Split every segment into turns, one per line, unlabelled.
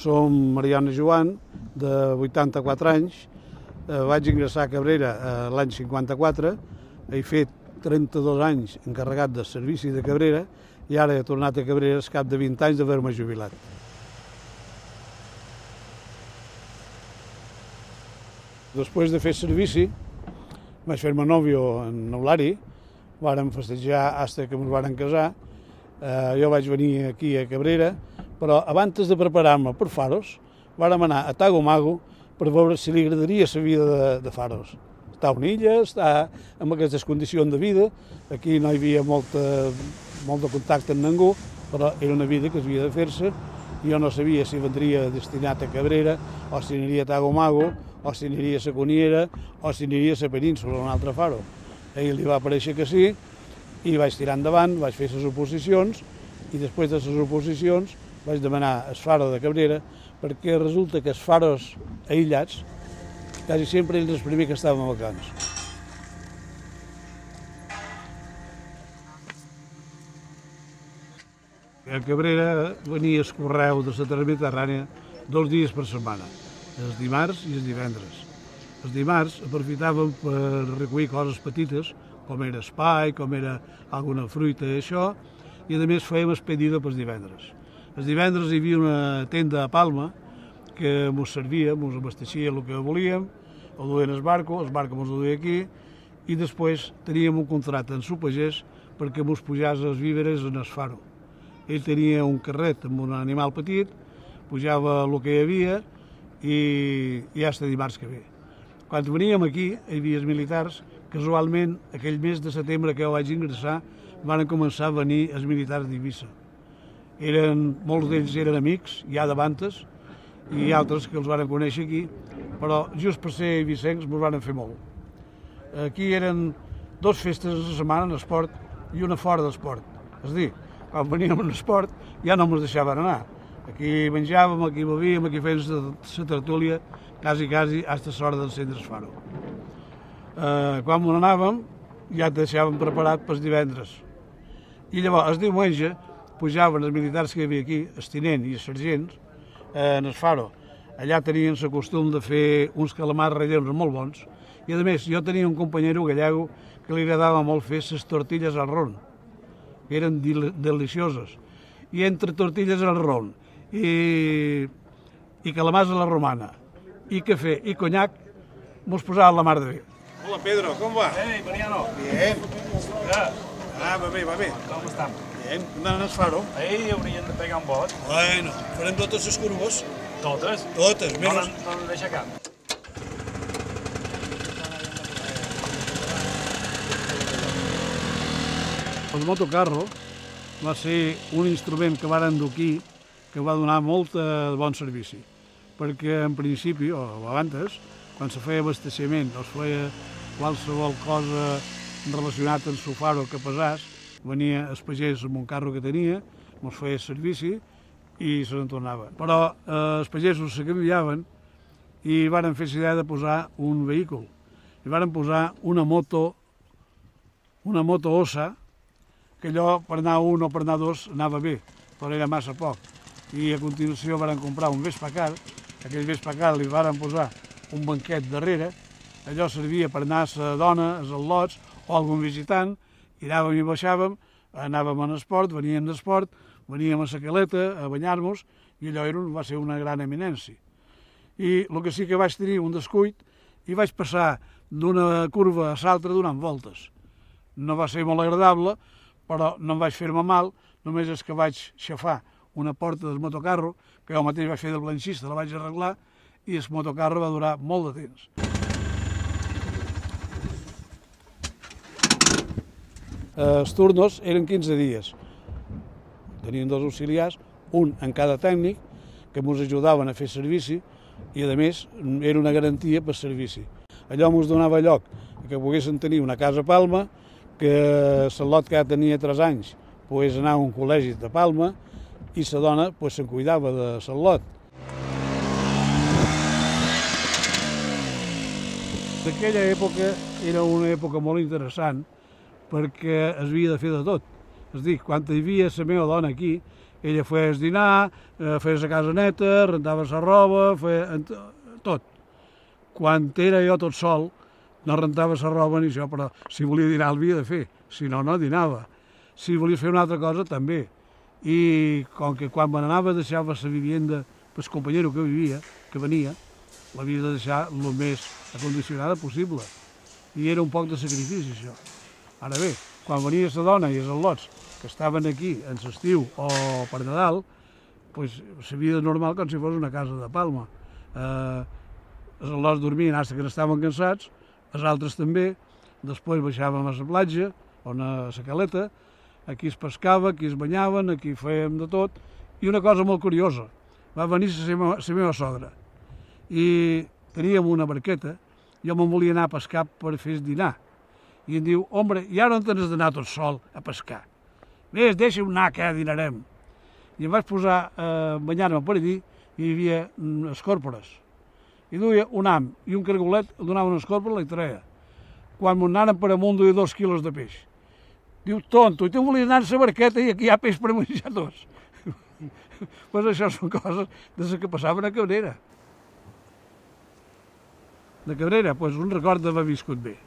Som Mariano Joan, de 84 anys. Vaig ingressar a Cabrera l'any 54. He fet 32 anys encarregat de servici de Cabrera i ara he tornat a Cabrera al cap de 20 anys d'haver-me jubilat. Després de fer servici, vaig fer-me nòvio en Eulari, vàrem festejar fins que ens vàrem casar. Jo vaig venir aquí a Cabrera, però abans de preparar-me per Faros, vàrem anar a Tagomago per veure si li agradaria la vida de Faros. Està a una illa, està en aquestes condicions de vida, aquí no hi havia molt de contacte amb ningú, però era una vida que havia de fer-se. Jo no sabia si vendria destinat a Cabrera, o si aniria a Tagomago, o si aniria a la Coniera, o si aniria a la península, a un altre Faro. A ell li va parèixer que sí, i vaig tirar endavant, vaig fer les oposicions, i després de les oposicions vaig demanar el Faro de Cabrera, perquè resulta que els faros aïllats, quasi sempre ells els primers que estaven vacants. A Cabrera venia el correu de la Terra Mediterrània 2 dies per setmana, els dimarts i els divendres. Els dimarts aprofitàvem per recollir coses petites, com era espai, com era alguna fruita i això, i a més fèiem expedida pels divendres. Els divendres hi havia una tenda a Palma que ens servia, ens abasteixia el que volíem, ho duien el barco ens ho duia aquí, i després teníem un contracte amb el pagès perquè ens pujàs els víveres en el Faro. Ell tenia un carret amb un animal petit, pujava el que hi havia i ja està dimarts que ve. Quan veníem aquí, hi havia els militars, casualment, aquell mes de setembre que jo vaig ingressar, van començar a venir els militars d'Eivissa. Molts d'ells eren amics, ja d'abans, i altres que els van conèixer aquí, però just per ser eivissencs ens van fer molt. Aquí eren 2 festes a la setmana en esport i una fora d'esport. És a dir, quan veníem en esport ja no ens deixaven anar. Aquí menjàvem, aquí bevíem, aquí fèiem la tertúlia, quasi, fins a l'hora d'encendre el Faro. Quan anàvem ja et deixàvem preparat pels divendres. I llavors, el diumenge, pujaven els militars que hi havia aquí, el tinent i els sergents, en el Faro. Allà tenien el costum de fer uns calamars relleus molt bons. I a més, jo tenia un companyero gallego que li agradava molt fer les tortilles al ron, que eren delicioses. I entre tortilles al ron i calamars a la romana, i cafè i conyac, mos posava la mar de bé. Hola Pedro, ¿cómo va?
Hey, Mariano.
Bien. Va bé, va bé.
Com estem?
Bien. Anant al Faro.
Ei, haurien de pegar un bot.
Bueno, farem totes les curves.
Totes?
Totes, menys...
No en deixa cap.
El motocarro va ser un instrument que varen dur aquí que va donar molt bon servici, perquè en principi, o abans, quan se feia abasteciment o es feia qualsevol cosa relacionat amb el Faro que pesàs, venia el pagès amb un carro que tenia, ens feia servici i se n'en tornava. Però els pagesos se canviaven i varen fer l'idea de posar un vehicle. I varen posar una moto ossa, que allò per anar un o per anar dos anava bé, però era massa poc. I a continuació varen comprar un Vespacar, aquell Vespacar li varen posar un banquet darrere, allò servia per anar a la dona, als al·lots o algun visitant, i anàvem i baixàvem, anàvem en esport, veníem d'esport, veníem a la caleta a banyar-nos, i allò va ser una gran eminència. I el que sí que vaig tenir un descuit, i vaig passar d'una curva a l'altra donant voltes. No va ser molt agradable, però no em vaig fer-me mal, només és que vaig xafar una porta del motocarro, que jo mateix vaig fer del blanxista, la vaig arreglar, i el motocarro va durar molt de temps. Els turnos eren 15 dies. Tenien 2 auxiliars, un en cada tècnic, que ens ajudaven a fer servici, i a més era una garantia per servici. Allò ens donava lloc que poguessin tenir una casa a Palma, que l'al·lot que ja tenia 3 anys pogués anar a un col·legi de Palma i la dona se'n cuidava de l'al·lot. D'aquella època era una època molt interessant perquè es havia de fer de tot. És a dir, quan hi havia la meva dona aquí, ella feies dinar, feies la casa neta, rentaves la roba, tot. Quan era jo tot sol, no rentava la roba ni això, però si volia dinar l'havia de fer, si no, no dinava. Si volies fer una altra cosa, també. I com que quan me n'anava deixava la vivienda pel companyero que venia, l'havia de deixar el més acondicionada possible. I era un poc de sacrifici, això. Ara bé, quan venia la dona i els al·lots que estaven aquí en l'estiu o per Nadal, doncs la vida normal com si fos una casa de Palma. Els al·lots dormien fins que estaven cansats, els altres també, després baixàvem a la platja, on a la caleta, aquí es pescava, aquí es banyaven, aquí fèiem de tot, i una cosa molt curiosa, va venir la meva sogra, i teníem una barqueta, jo me'n volia anar a pescar per fer dinar, i em diu, hombre, i ara on tens d'anar tot sol a pescar? Ves, deixa'm anar, que ja dinarem. I em vaig posar a banyar-me per allí, i hi havia escòrpores. I duia un ham i un cargolet, el donava una escòrpora i la treia. Quan m'ho anaren per amunt duia 2 quilos de peix. Diu, tonto, i tu volies anar a la barqueta i aquí hi ha peix per menjar tots. Pues això són coses de les que passaven a Cabrera. De Cabrera, pues, un record d'haver viscut bé.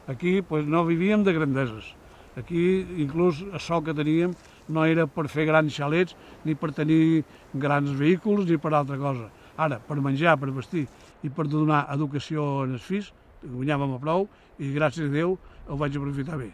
Aquí pues, no vivíem de grandeses. Aquí, inclús, el sol que teníem no era per fer grans xalets, ni per tenir grans vehicles, ni per altra cosa. Ara, per menjar, per vestir i per donar educació als fills, guanyàvem a prou i gràcies a Déu ho vaig aprofitar bé.